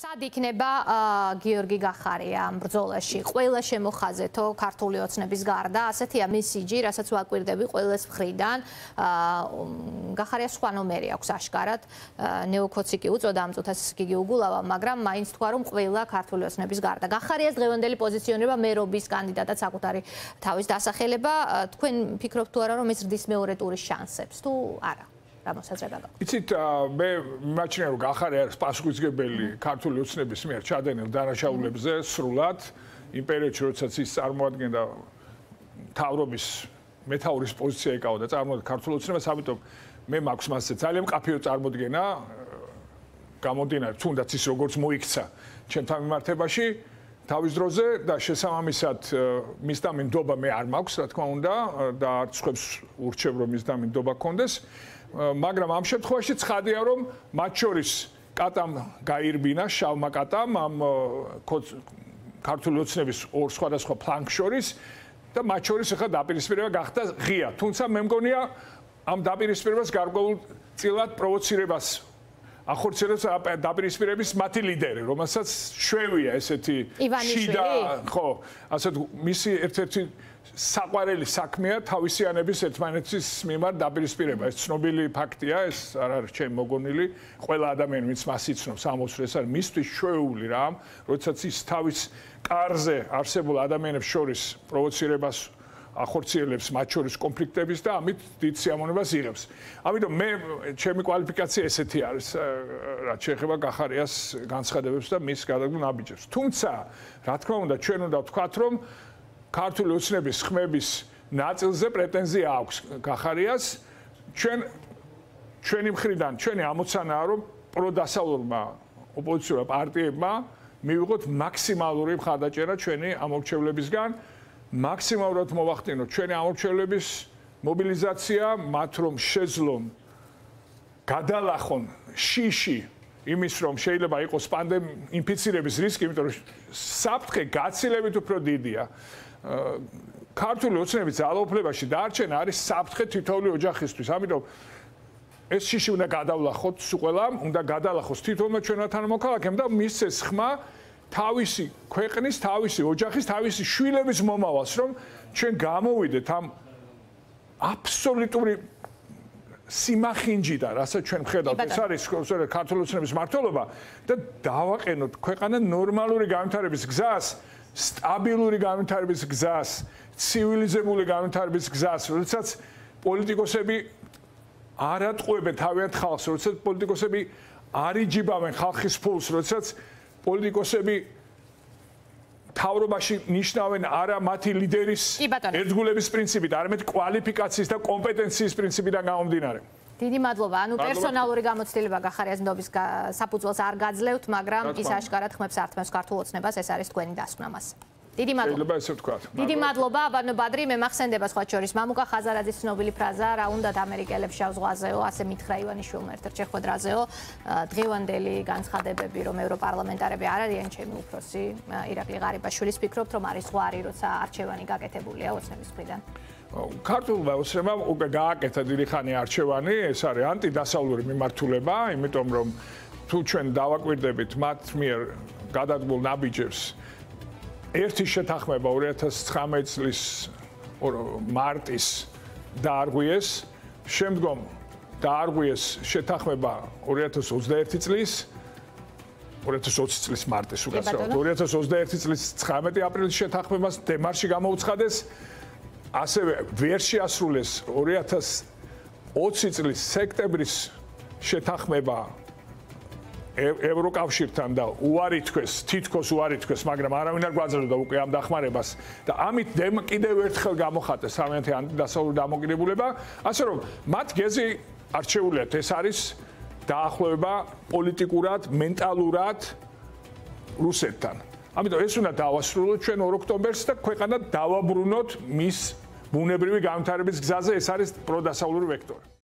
სად იქნება გიორგი გახარია ამ ბრძოლაში? ყველა შემოხაზეთო ქართული ოცნების გარდა, ასეთია მესიჯი, რასაც ვაკვირდები ყველას მხრიდან. გახარია სხვა ნომერი აქვს აშკარად. ნეოქოცი კი უწოდა ამ წუთას გიგი უგულავა, მაგრამ მაინც თქვა რომ ყველა ქართული ოცნების გარდა. გახარიას დღევანდელი პოზიციონირება მერობის კანდიდატად საკუთარი თავის დასახელება. თქვენ ფიქრობთ თუ არა რომ ეს ზრდის მეორე ტურის შანსებს თუ არა? იცით, მე მიმაჩნია რომ გახარია არის პასუხისმგებელი ქართული ოცნების მიერ ჩადენილ დანაშაულებზე სრულად იმ პერიოდში, როდესაც ის წარმოადგენდა მთავრობის მეთაურის პოზიცია ეკავა და წარმოადგენდა ქართულ ოცნებას, ამიტომ მე მაქვს მასზე ძალიან მკაფიო წარმოდგენა გამომდინარე თუნდაც ის როგორც მოიქცა ჩემთან მიმართებაში თავის დროზე და შესაბამისად მის დამინდობა მე არ მაქვს, რა თქმა უნდა, და არც ხებს ურჩევ რომ მის დამინდობა გქონდეს. მაგრამ ამ შემთხვევაში ცხადია რომ მათ შორის კატამ გაირბინა შავმა კატამ ამ ქართული ოცნების ორ სხვადასხვა ფლანგს შორის და მათ შორის ახლა დაპირისპირება გახდა ღია. თუმცა მე მგონია ამ დაპირისპირებას გარკვეულ წილად პროვოცირებას ახორციელებს დაპირისპირების მათი ლიდერი, რომელსაც შვევია ესეთი შიდა, ხო, ასეთ მისი ერთ-ერთი საყვარელი საქმეა თავისიანების ერთმანეთის მიმართ დაპირისპირება. ეს ცნობილი ფაქტია, ეს არ არის ჩემი მოგონილი. ყველა ადამიანი, ვინც მას იცნობს, ამბობს, ეს არის მისთვის შვეული რამ, როდესაც ის თავის კარზე არსებულ ადამიანებს შორის პროვოცირებას ახორციელებს მათ შორის კონფლიქტების და ამით დიდ სიამოვნებას იღებს. ამიტომ მე ჩემი კვალიფიკაცია ესეთი არის, რაც შეეხება გახარიას განცხადებებს და მის გადაგულ ნაბიჯებს. თუმცა, რა თქმა უნდა, ჩვენ უნდა ვთქვათ, რომ ქართული ოცნების ხმების ნაწილზე პრეტენზია აქვს გახარიას. ჩვენი მხრიდან, ჩვენი ამოცანაა, რომ პროდასავლურმა ოპოზიციურმა პარტიებმა მივიღოთ მაქსიმალური მხარდაჭერა ჩვენი ამორჩევლებისგან. მაქსიმალურად მოვახდინოთ ჩვენი ამორჩევლების მობილიზაცია, მათ რომ შეძლონ გადალახონ შიში იმის რომ შეიძლება იყოს ინფიცირების რისკი, იმიტომ რომ საფრთხე გაცილებით უფრო დიდია. ქართული ოცნების ძალაუფლებაში დარჩენა არის საფრთხე თითოეული ოჯახისთვის. ამიტომ ეს შიში უნდა გადავლახოთ სულ, უნდა გადალახოს თითოეულმა ჩვენმა თანამოქალაქემ და მისცეს ხმა თავისი ქვეყნის, თავისი ოჯახის, თავისი შვილების მომავალს, რომ ჩვენ გამოვიდეთ ამ აბსოლუტური სიმახინჯიდან, რასაც ჩვენ ვხედავთ, ეს არის ქართული ოცნების მმართველობა და დავაყენოთ ქვეყანა ნორმალური განვითარების გზას, სტაბილური განვითარების გზას, ცივილიზებული განვითარების გზას, როდესაც პოლიტიკოსები არ ატყუებენ თავიანთ ხალხს, როდესაც პოლიტიკოსები არ იჯიბავენ ხალხის ფულს, როდესაც პოლიტიკოსები თავრობაში ნიშნავენ არა მათი ლიდერის ერთგულების პრინციპით, არამედ კვალიფიკაციის და კომპეტენციის პრინციპიდან გამომდინარე. დიდი მადლობა. ანუ პერსონალური გამოცდილება გახარიას ნდობის საფუძველს არ გაძლევთ, მაგრამ ის აშკარად ხმებს ართმევს ქართულ ოცნებას, ეს არის თქვენი დასკვნა მას. დიდი მადლობა. შეიძლება ესე ვთქვათ. დიდი მადლობა, აბანო ბადრი, მე მახსენდება სხვა შორის მამუკა ხაზარაძის ცნობილი ფრაზა, რა უნდათ ამერიკელებს შავ ზღვაზეო, ასე მითხრა ივანიშვილმა ერთ-ერთ შეხვედრაზეო. დღევანდელი განცხადებები, რომ ევროპარლამენტარები არ არიან ჩემი უფროსი, ირაკლი ღარიბაშვილის, ფიქრობთ, რომ არის ზღვარი, როცა არჩევანი გაკეთებულია ოცნების მხრიდან? ქართულმა ოცნებამ უკვე გააკეთა დიდი ხანი არჩევანი, ეს არის ანტიდასავლური მიმართულება, იმიტომ რომ თუ ჩვენ დავაკვირდებით მათ მიერ გადადგმულ ნაბიჯებს ერთი შეთანხმება 2019 წლის მარტის დაარღვიეს, შემდგომ დაარღვიეს შეთანხმება 2021 წლის 2020 წლის მარტის უკაცრავად 2021 წლის 19 აპრილის შეთანხმებას დემარში გამოუცხადეს, ასევე ვერ შეასრულეს 2020 წლის სექტემბრის შეთანხმება ევროკავშირთან და უარი თქვეს, თითქოს უარი თქვეს, მაგრამ არავინ არ გვაძლევდა უკვე ამ დახმარებას და ამით კიდევ ერთხელ გამოხატეს სამიანთი ანტიდასავლური დამოკიდებულება, ასე რომ მათ გეზი არჩეულიათ, ეს არის დაახლოება პოლიტიკურად, მენტალურად რუსეთთან. ამიტომ ეს უნდა დავასრულოთ ჩვენ 2 ოქტომბერს და ქვეყანა დავაბრუნოთ მის ბუნებრივი განვითარების გზაზე, ეს არის პროდასავლური ვექტორი.